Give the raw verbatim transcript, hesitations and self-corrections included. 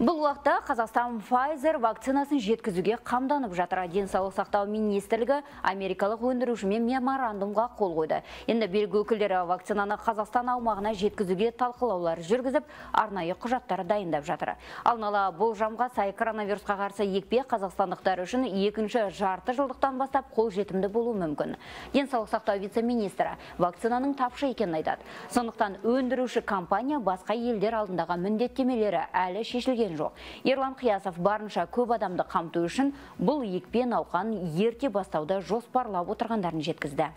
Бұл уақытта Қазақстан Pfizer вакцинасын жеткізуге қамданып жатыр. Денсаулық сақтау министрлігі америкалық өндірушімен меморандумға қол қойды. Енді билік өкілдері вакцинаны Қазақстан аумағына жеткізуге талқылаулар жүргізіп, арнайы құжаттар дайындап жатыр. Алдын ала болжамға сай коронавирусқа қарсы екпе қазақстандықтар үшін екінші жарты жылдықтан бастап қол жетімді болуы мүмкін. Денсаулық сақтау вице-министрі вакцинаның тапшы екенін айтады. Сондықтан өндіруші компания басқа елдер алдындағы міндеттемелері әлі шешілген жоқ. Ерлан Қиясов барынша көп адамды қамту үшін бұл екпе науқан ерте бастауды жоспарлап отырғандарын жеткізді.